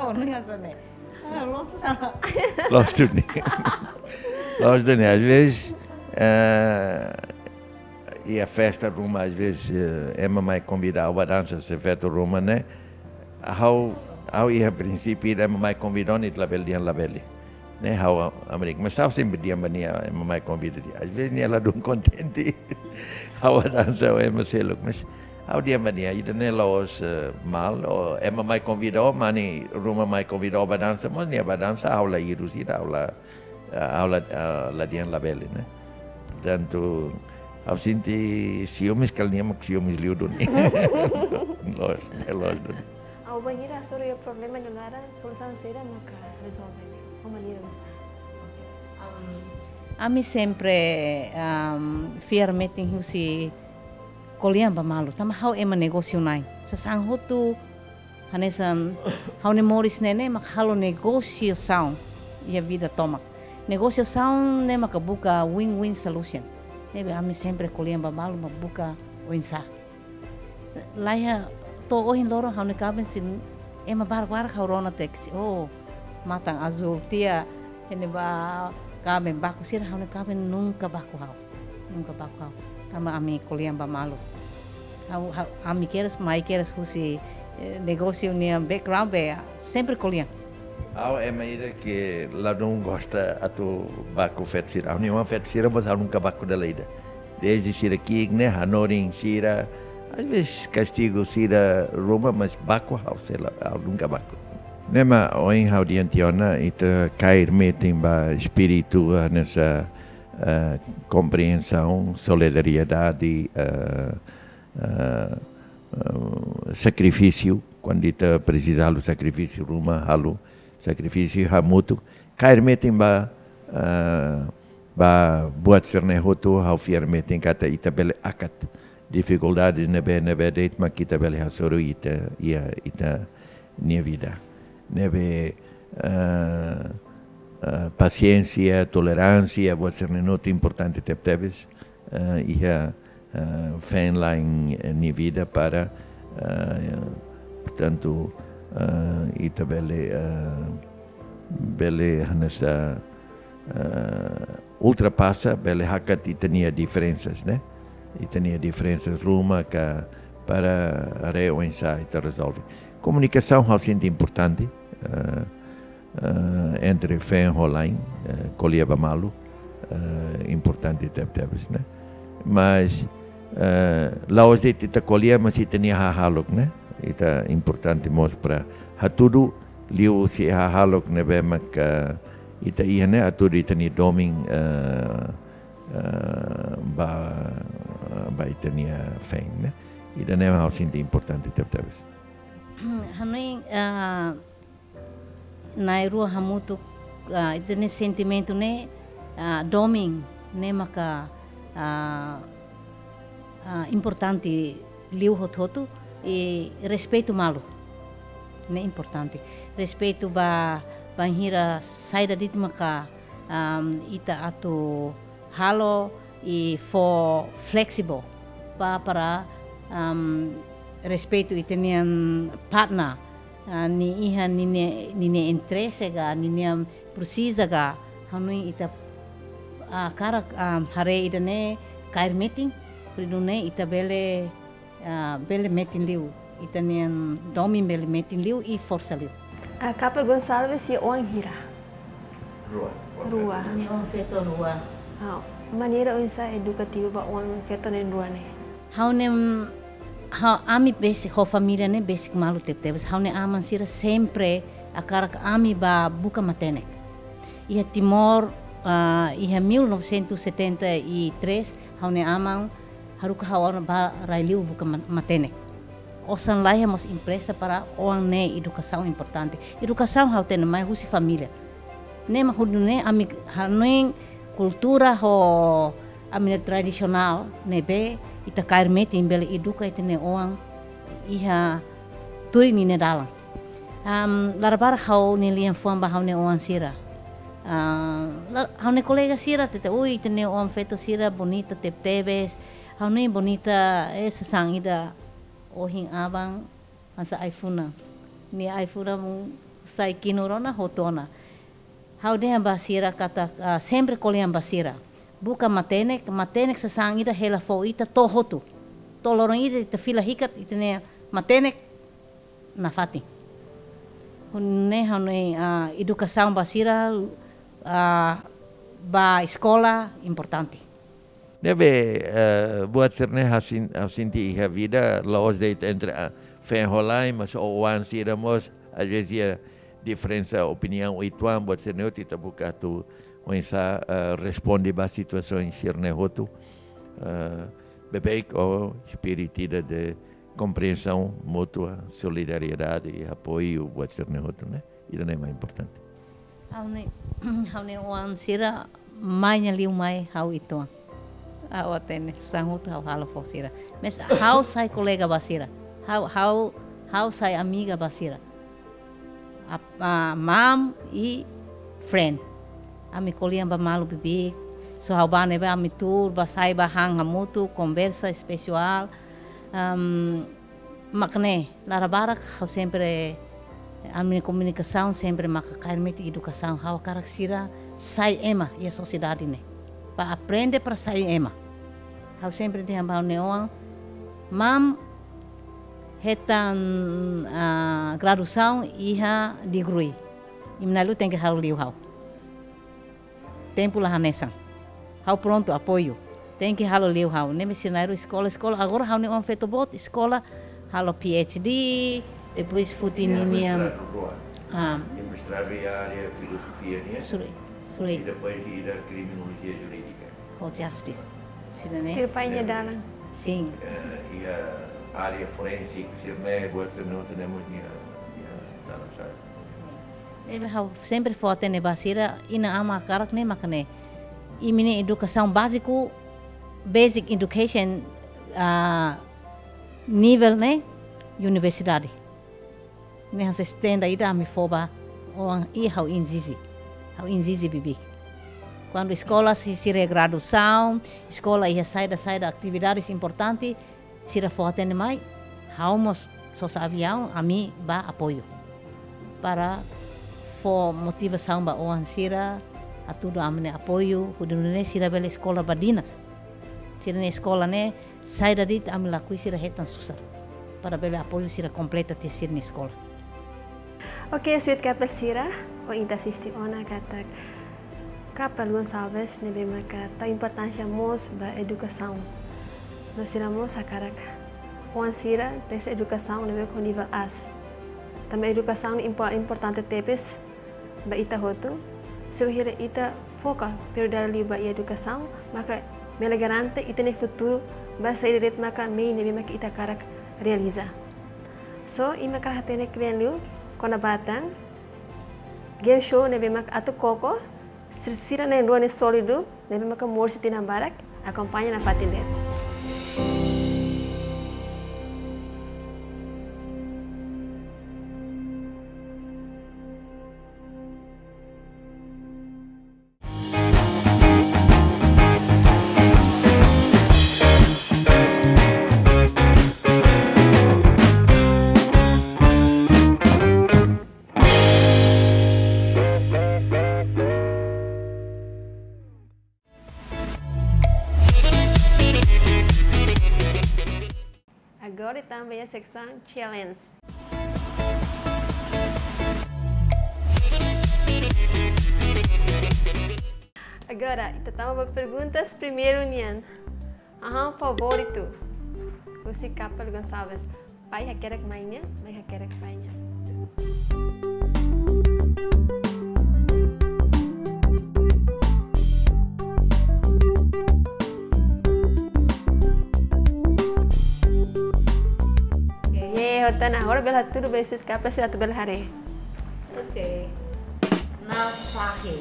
Oh, ne'e hanesan ne'e. Ah, loos ka sala? Loos duni. Loos duni. Às vezes, eh, iha festa ruma, às vezes, eh, ema mai konvida ha'u ba dansa, se feto ruma ne'e. Ha'u, ha'u iha prinsípiu ida ema mai konvida ona ita labele dehan labele. Ne'e ha'u América. Mas ha'u sempre dehan ba nia, ema mai konvida dehan. Às vezes nia ladún kontente. Ha'u dansa ho ema seluk. Mas ha'u dehan ba nia, ida-ne'e la'ós, eh, mal. Ou ema mai konvida ó, mane ruma mai konvida ó ba dansa, mas nia ba dansa, ha'u la hirus ida, ha'u la, eh, ha'u la, eh, la dehan labele, ne'e. Portantu, ha'u sente siumes, kala nia mak siumes liu duni. Loos, ne'e loos duni. Ha'u bainhira hasoru iha problema nia laran, solusaun saida maka rezolve? Ho maneira oinsá? Ami sempre, um, fiar metin husi ko'alia ba malu. Tanba ha'u ema negósiu na'in. Sasán hotu hanesan ha'u-nia moris ne'e ne'e mak halo negosiasaun iha vida tomak. Negosiasaun ne'e maka buka win-win solution. Ne'ebé ami sempre ko'alia ba malu mak buka oinsá. Laiha to'o ohin loron ha'u-nia kaben sira ema barak-barak ha'u rona tiha, oh, matan azul tiha, iha ne'ebá kaben baku sira, ha'u-nia kaben nunka baku ha'u. Nunka baku ha'u. Tanba ami ko'alia ba malu. Ha'u, ha'u, ami kedas, mai kedas husi, eh, negósiu nia background be, sempre ko'alia. Ha'u ema ida ke ladún gosta atu baku feto sira. Ha'u-nia oan feto sira, mas ha'u nunka baku dala ida. Desde sira ki'ik ne'e, hanorin sira, às vezes kastigu sira ruma, mas baku ha'u sei la, ha'u nunka baku. Ne'e mak ohin ha'u dehan tiha ona, ita kaer metin ba espíritu hanesan, eh, komprensaun, solidariedade, eh, eh, eh, sakrifísiu, kuandu ita presiza halo sakrifísiu ruma, halo sakrifísiu hamutuk. Kaer metin ba, eh, ba buat sira-ne'e hotu, ha'u fiar metin katak ita bele hakat difikuldades ne'ebé, ne'ebé de'it mak ita bele hasoru iha ita, iha ita-nia vida. Ne'ebé, eh, eh, pasiénsia, toleránsia, buat sira-ne'e hotu importante tebetebes, eh, iha, eh, feen-la'en, eh, nia vida para, eh, portantu, eh, ita bele, eh, bele hanesan, eh, ultrapasa, bele hakat ita-nia diferensas, ne'e? Ita-nia diferensas ruma ka para haree oinsá ita rezolve. Komunikasaun ha'u sente importante, eh, eh, entre feen ho la'en, eh, ko'alia ba malu, eh, importante tebetebes, ne'e? Mas, eh, la'ós de'it ita ko'alia, mas ita-nia hahalok, ne'e? Ita importante mós para hatudu liuhusi hahalok ne'ebé maka ita iha ne'e, hatudu ita-nia domin, eh, eh, ba, ba ita-nia feen, ne'e? Ida-ne'e ha'u sente importante tebetebes. Hanoin, eh, na'in-rua hamutuk, ah, ita-nia sentimentu ne'e, ah, domin ne'e maka, ah, ah, importante liu hotu-hotu, I respeitu malu. Ne'e importante. Respeitu ba, bainhira saida de'it maka, am, ita atu halo i fó flexible ba para, am, respeitu ita-nian partner, ah, nia iha ninia, ninia interese ka, ninia presiza ka, hanoin ita, ah, hakarak, ah, haree ida-ne'e kaer metin, hodi nune'e ita bele, ah, bele metin liu, ita-nian domin bele metin liu i forsa liu. Ah, Kapel Gonçalves iha oan hira? Rua. Rua. Nia oan feto rua. Ah, maneira oinsá edukativu ba oan feto na'in rua ne'e? Ha'u-nia, ha'u, ami besik, ho família ne'e besik malu tebetebes. Ha'u-nia aman sira sempre hakarak ami bá buka matenek. Iha Timor, ah, iha mil novecentos e setenta e três, ha'u-nia aman haruka ha'u ona bá rai-liur buka ma-, matenek. Osan laiha mós empresta para oan ne'e edukasaun importante. Edukasaun ha'u hatene mai husi família. Ne'e mak hodi nune'e ami hanoin kultura ho ami-nia tradisionál ne'ebé ita kaer metin bele eduka ita-nia oan iha tuir ninia dalan. Am, labarik ha'u-nia lian-fuan ba ha'u-nia oan sira. Ah, la-, ha'u-nia kolega sira hatete, ui, ita-nia oan feto sira bonita tebetebes. Ha'u-nia bonita, eh, sasán ida ohin aban hanesan ai-funan. Nia ai-funan sai kinur ona, hotu ona. Ha'u dehan ba sira katak, ah, sempre ko'alia ba sira. Buka matenek, matenek sasán ida hela fó ita to'o hotu. To'o loron ida ita fila hikat, ita-nia matenek nafatin. Hodi nune'e ha'u-nia, ah, edukasaun ba sira, ah, bá eskola importante. Ne'ebé, eh, buat sira-ne'e ha'u sen-, ha'u sente iha vida, la'ós de'it entre, ah, feen ho la'en, mas oan sira mós, às vezes, iha diferensa opiniaun uitoan, buat sira-ne'e hotu ita buka atu oinsá, eh, responde ba situasaun sira-ne'e hotu. Eh, beibeik ho espíritu ida de kompriensaun mútua, solidariedade i apoiu buat sira-ne'e hotu, ne'e? Ida-ne'e mak importante. Ha'u-nia, ha'u-nia oan sira mai nia liu mai ha'u uitoan. Ha'u hatene, sasán hotu ha'u halo fó sira. Mais ha'u sai kolega ba sira. Ha'u, ha'u, ha'u sai amiga ba sira. Ap-, ah, mam i friend. Ami ko'alia ba malu bibi. Só ha'u bá ne'ebá ami tuur, bá sai, bá han hamutuk, konversa espesiál. Am, mak ne'e, labarik ha'u sempre, ami-nia komunikasaun sempre maka kaer metin edukasaun, ha'u hakarak sira sai ema iha sosiedade ne'e. Bá aprende para sai ema. Ha'u sempre dehan ba ha'u-nia oan, mam hetan, ah, graduasaun iha degree. Imi na'in-rua tenke halo liu ha'u. Tempu la hanesan. Ha'u prontu apoiu. Tenke halo liu ha'u. Ne'ebé sira na'in-rua eskola, eskola. Agora ha'u-nia oan feto boot eskola, halo P H D, depois foti ninia, mestradu rua. Ah. Iha mestradu iha área filozofia nian. Suri, suri. I depois iha kriminolojia jurídika. Ou justice. Sira-ne'e? Tuir pai nia dalan. Sin. Eh, iha área forénsiku, sira-ne'e, buat sira-ne'e, tenemos iha, iha dalan sa'e. Ne'ebé ha'u sempre fó-hatene ba sira, inan-aman hakarak ne'e mak ne'e. Imi-nia edukasaun báziku, basic education, ah, nivel ne'e universidade. Ne'e hanesan estenda ida ami fó ba oan i ha'u ezije. Ha'u ezije bibi. Kuandu eskola sei, sira graduasaun, eskola iha saida-saida atividades importante, sira fó-hatene mai, ha'u mós sosa aviaun, ami bá apoiu. Para fó motivasaun ba oan sira, hatudu ami-nia apoiu, hodi nune'e sira bele eskola badinas. Sira-nia eskola ne'e, saida de'it ami lakohi sira hetan susar. Para bele apoiu sira kompleta tiha sira-nia eskola. Oke, Sweet Kapel sira, ohin ita asiste ona katak Kapel Gonçalves ne'ebé maka tau importánsia mós ba edukasaun. No sira mós hakarak oan sira tesi edukasaun ne'ebé ho nivel aas. Tanba edukasaun impo-, importante tebes ba ita hotu, se bainhira ita foka prioridade liu ba edukasaun, maka bele garante ita-nia futuru ba saida de'it maka mehi ne'ebé maka ita hakarak realiza. So, imi hakarak hatene kle'an liu kona-ba tan game show ne'ebé maka atu koko, sir-, sira na'in-rua ne'e sólidu, ne'ebé maka moris tinan barak, akompaña nafatin de'it. Agora ita tama ba iha seksaun challenge. Agora, ita tama ba perguntas primeiru nian. Hahán favoritu husi kapel Gonçalves. Pai hakerek mãe nian, mãe hakerek pai nian. Ye, hotu ona, agora bele hatudu ba sira-nia kapel, sira atu bele haree. Oke. Na'an fahe.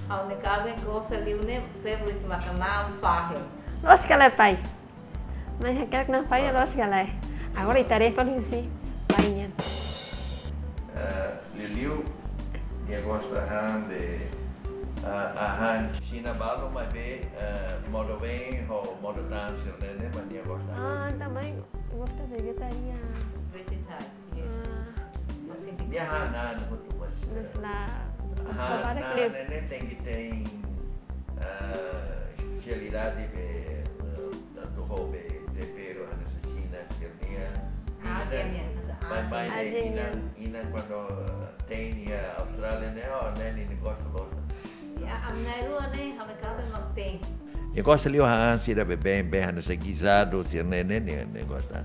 Ha'u-nia kaben gosta liu ne'e, favorite maka na'an fahe. Loos ka lae, pai? Mãe hakerek na'an fahe, loos ka lae? Agora ita haree fali husi pai nian. Eh, liuliu, nia gosta han de, ah, hahán Xina balu, maibé, eh, modo bem ho modo tan sira-ne'e, mas nia gosta. Ah, também gosta vegetariano. Vegetariano. Ah. Nia han na'an hotu, mas, mas eh, la, han, para na'an klip ne'e tenke iha, eh, espesialidade be, eh, tantu ho be tempero, hanesan Xina sira-nian. Ah, Xina, Xina, ah, mas, mas Xina. Inan, inan kuandu, eh, tein iha Austrália ne'e, oh, ne'e nia gosta loos. Ya, ami na'in-rua ne'e, ha'u-nia kaben mak tein. Nia gosta liu han sira be bem, be hanesan guisado sira-ne'e, ne'e, nia, nia gosta.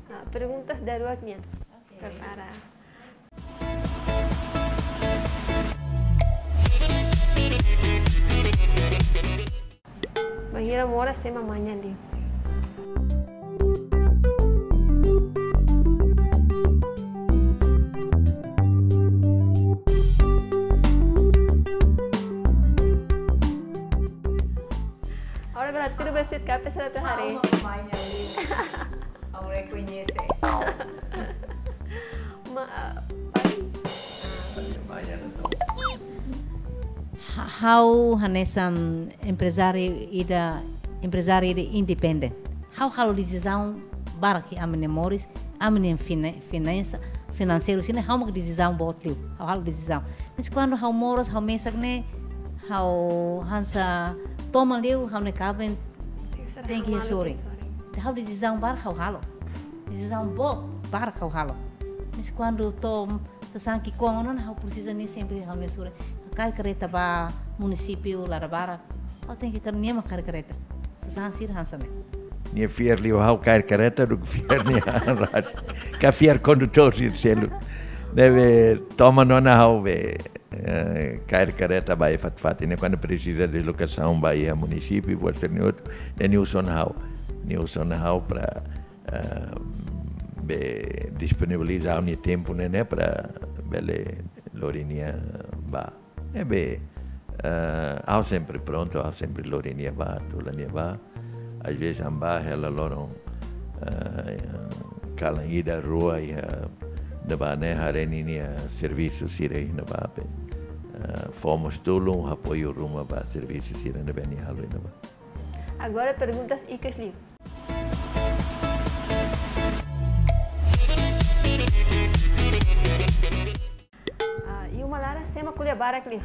Ah, perguntas daruak nian. Oke. Prepara. Bainhira moras ema manhan liu. Agora bele hatudu ba sira-nia kapel, sira atu haree. Ha'u mak manhan liu. Ha'u rekoñese. Ma, ah, pai. Ha-, ha'u hanesan emprezáriu ida, emprezáriu ida independente. Ha'u halo desizaun barak iha ami-nia moris, ami-nia fina-, finansa, finanseiru sira-ne'e, ha'u mak desizaun boot liu, ha'u halo desizaun. Mas kuandu ha'u moras, ha'u mesak ne'e, ha'u hanesan toman liu, ha'u-nia kaben tenke iha sorin. Ha'u desizaun barak ha'u halo. Desizaun boot barak ha'u halo. Mas kuandu to'o sasán ki'ikoan ona, ha'u presiza nia sempre ha'u-nia sorin. Kaer kareta ba munisípiu, laran barak. Ha'u tenke kaer, nia mak kaer kareta. Sasán sira hanesan ne'e. Nia fiar liu ha'u kaer kareta duké fiar nia han ras. Ka fiar kondutór sira seluk. Ne'ebé toman ona ha'u be, eh, kaer kareta ba iha fatin-fatin. Ne'e kuandu presiza deslokasaun ba iha munisípiu, buat sira-ne'e hotu, ne'e nia uza ona ha'u. Nia uza ona ha'u para, eh, be disponibiliza ha'u-nia tempu ne'e, ne'e para bele lori nia bá. Ne'ebé, eh, ha'u sempre prontu, ha'u sempre lori nia bá, tula nia bá. Às vezes ami bá hela loron, eh, kalan ida rua iha ne'ebá ne'e haree ninia servisu sira iha ne'ebá be. Eh, fó mós tulun, apoiu ruma ba servisu sira ne'ebé nia halo iha ne'ebá. Agora perguntas ikus liu. Ah, iha uma laran sé mak ko'alia barak liu?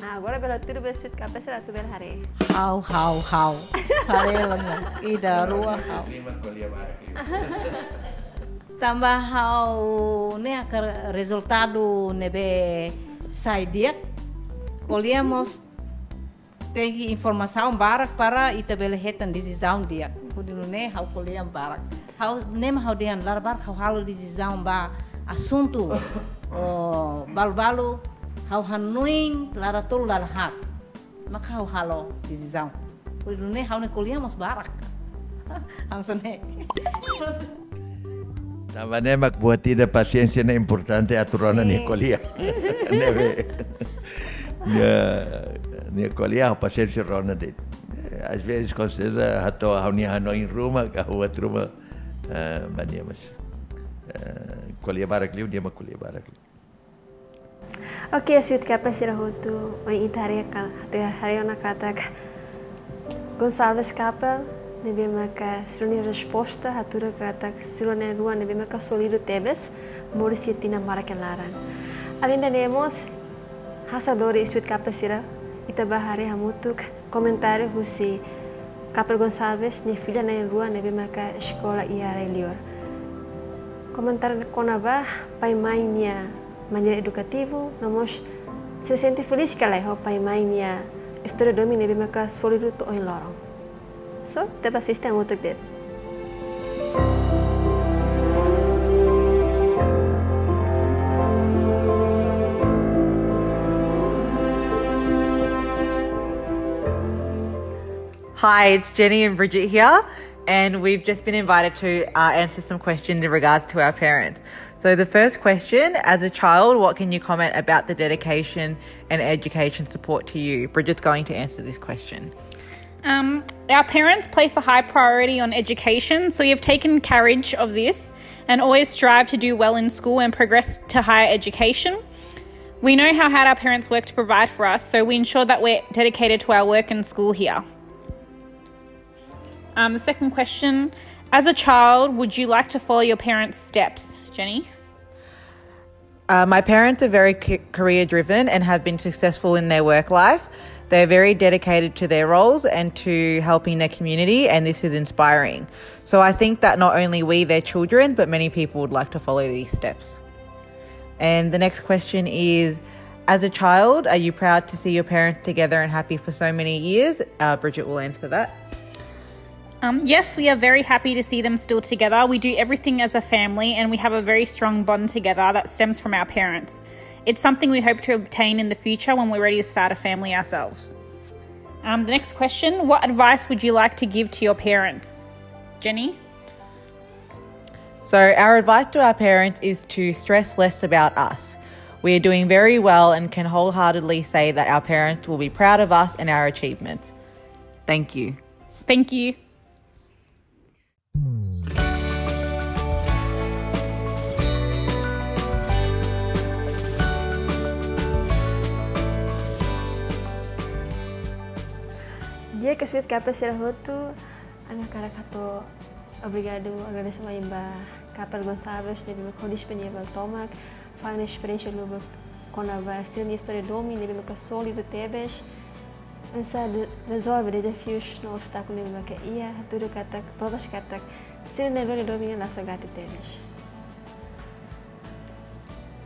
Ah, agora bele hatudu ba sira-nia kapel, sira atu bele haree. Ha'u, ha'u, ha'u. Haree ona. Ida, rua, ha'u. Tanba ha'u ne'e hakarak rezultadu ne'ebé sai di'ak. Ko'alia mós tenke informasaun barak para ita bele hetan desizaun di'ak. Hodi nune'e ha'u ko'alia barak. Ha'u ne'e mak ha'u dehan laran barak ha'u halo desizaun ba asuntu, oh, balu-balu ha'u hanoin laran tolu laran haat. Maka ha'u halo desizaun. Hodi nune'e ha'u-nia ko'alia mós barak. Hanesan ne'e. Tanba ne'e mak buat ida pasiénsia ne'e importante atu rona nia ko'alia. Ne'ebé. Nia, nia ko'alia pasiénsia rona de'it. Às vezes, com certeza, hato'o ha'u-nia hanoin ruma, ka buat ruma, eh, ba nia mas, eh, ko'alia barak liu, nia mak ko'alia barak liu. Oke, sira-nia kapel sira hotu, ohin ita haree ka, ita haree ona katak Gonçalves kapel ne'ebé maka sira-nia resposta hatudu katak sira na'in-rua ne'ebé maka sólidu tebes, moris iha tinan barak nia laran. Alende ne'e mós, ha'u sente dór iha Sweet Couple sira, ita bá haree hamutuk komentáriu husi Couple Gonçalves nia filha na'in-rua ne'ebé maka eskola iha rai-li'ur. Komentáriu kona-ba pai-mãe nia maneira edukativu, no mós sira sente felís ka lae ho pai-mãe nia istória domin ne'ebé maka sólidu to'o ohin loron. So, ita bá asiste hamutuk de'it. Hi, it's Jenny and Bridget here, and we've just been invited to uh, answer some questions in regards to our parents. So, the first question, as a child, what can you comment about the dedication and education support to you? Bridget's going to answer this question. Um, our parents place a high priority on education, so we have taken courage of this and always strive to do well in school and progress to higher education. We know how hard our parents work to provide for us, so we ensure that we're dedicated to our work and school here. Um, the second question, as a child, would you like to follow your parents' steps, Jenny? Uh, my parents are very career driven and have been successful in their work life. They're very dedicated to their roles and to helping their community, and this is inspiring. So I think that not only we, their children, but many people would like to follow these steps. And the next question is, as a child, are you proud to see your parents together and happy for so many years? Uh, Bridget will answer that. Um, yes, we are very happy to see them still together. We do everything as a family and we have a very strong bond together that stems from our parents. It's something we hope to obtain in the future when we're ready to start a family ourselves. Um, the next question, what advice would you like to give to your parents? Jenny? So, our advice to our parents is to stress less about us. We are doing very well and can wholeheartedly say that our parents will be proud of us and our achievements. Thank you. Thank you. Di'ak, Sweet Couple sira hotu, ami hakarak hato'o obrigadu, agradese mai ba Couple Gonçalves ne'ebé mak ho disponivel tomak fali esperiénsia lubuk kona-ba sira-nia istória domin ne'ebé maka sólidu tebes, oinsá rezolve dezafius no obstákulu ne'ebé maka iha, hatudu katak, provas katak sira-nia istória domin ne'e la sogati tebes.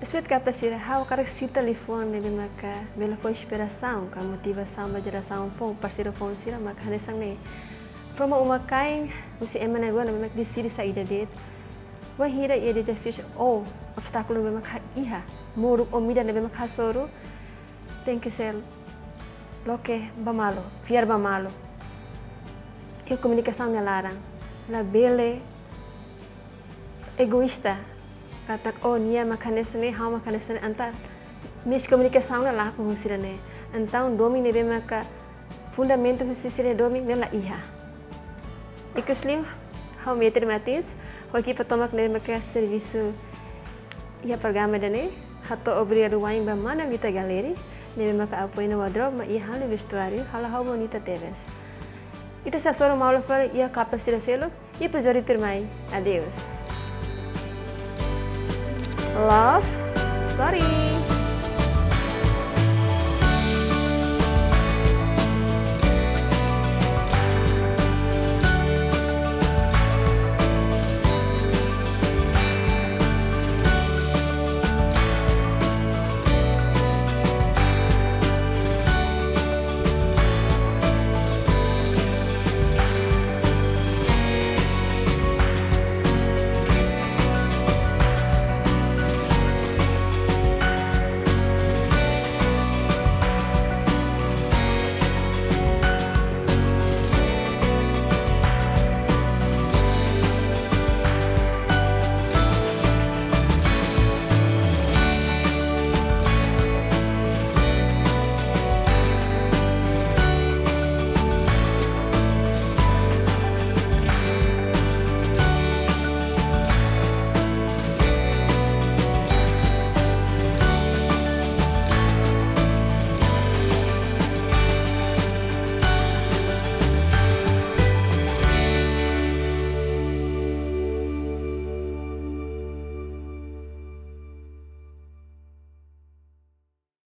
Sweet Couple sira, ha'u hakarak sita liafuan ne'ebé maka bele fó inspirasaun ka motivasaun ba jerasaun foun, parseiru foun sira, maka hanesan ne'e. Forma uma-kain husi ema na'in-rua ne'ebé maka deside saida de'it. Wainhira iha dezafius ou obstákulu ne'ebé maka iha, moruk ou midar ne'ebé maka hasoru, tenke ser loke ba malu, fiar ba malu. Iha komunikasaun nia laran, labele egoísta, katak, oh, nia maka hanesan ne'e, ha'u maka hanesan ne'e, entaun miskomunikasaun ne'e lakon husi ida-ne'e. Entaun domin ne'ebé maka fundamentu husi sira-nia domin ne'e la iha. Ikusliu, ha'u Metri Martins, ho ekipa tomak ne'ebé maka servisu iha programa ida-ne'e, hato'o obrigadu wa'in ba mana Vita Gallery, ne'ebé maka apoia ona wardrobe, mai iha halo vestuáriu, halo ha'u bonita tebes. Ita sei hasoru malu fali iha Couple sira seluk, iha epizódiu tuirmai. Adeus. Love Story.